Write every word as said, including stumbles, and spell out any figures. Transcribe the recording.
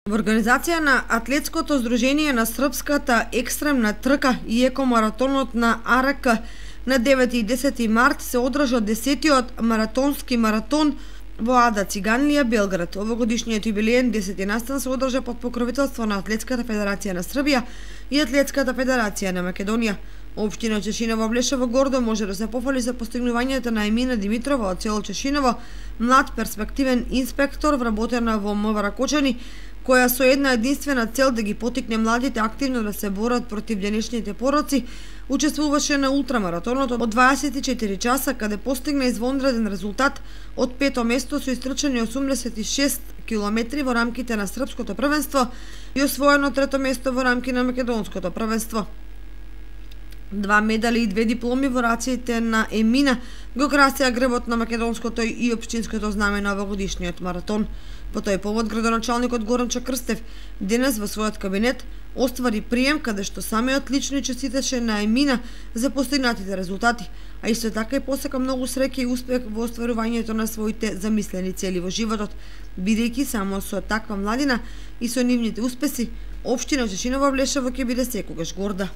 Во организација на Атлетското здружение на српската екстремна трка и екомаратонот на А Р К на девети и десети март се одржа десетиот маратонски маратон во Ада Циганлија, Белград. Овогодишниот юбилеен десети настан се одржа под покровителство на Атлетската федерација на Србија и Атлетската федерација на Македонија. Општина Чешиново Блешево гордо може да се пофали за постигнувањето на Емина Димитрова од село Чешиново, млад перспективен инспектор вработена во М В Ракочани, која со една единствена цел да ги потикне младите активно да се борат против денешните пороци, учествуваше на ултрамаратонот од дваесет и четири часа, каде постигна извонреден резултат од пето место со истрчани осумдесет и шест километри во рамките на српското првенство и освоено трето место во рамки на македонското првенство. Два медали и две дипломи во раците на Емина го красеа грбот на македонското и општинското знаме на овогодишниот маратон. По тој повод градоначалникот Горанчо Крстев денес во својот кабинет оствари прием каде што самиот лично честиташе на Емина за постигнатите резултати, а исто така и посака многу среќа и успех во остварувањето на своите замислени цели во животот, бидејќи само со таква младина и со нивните успеси општина Чешиново Блешево ќе биде секогаш горда.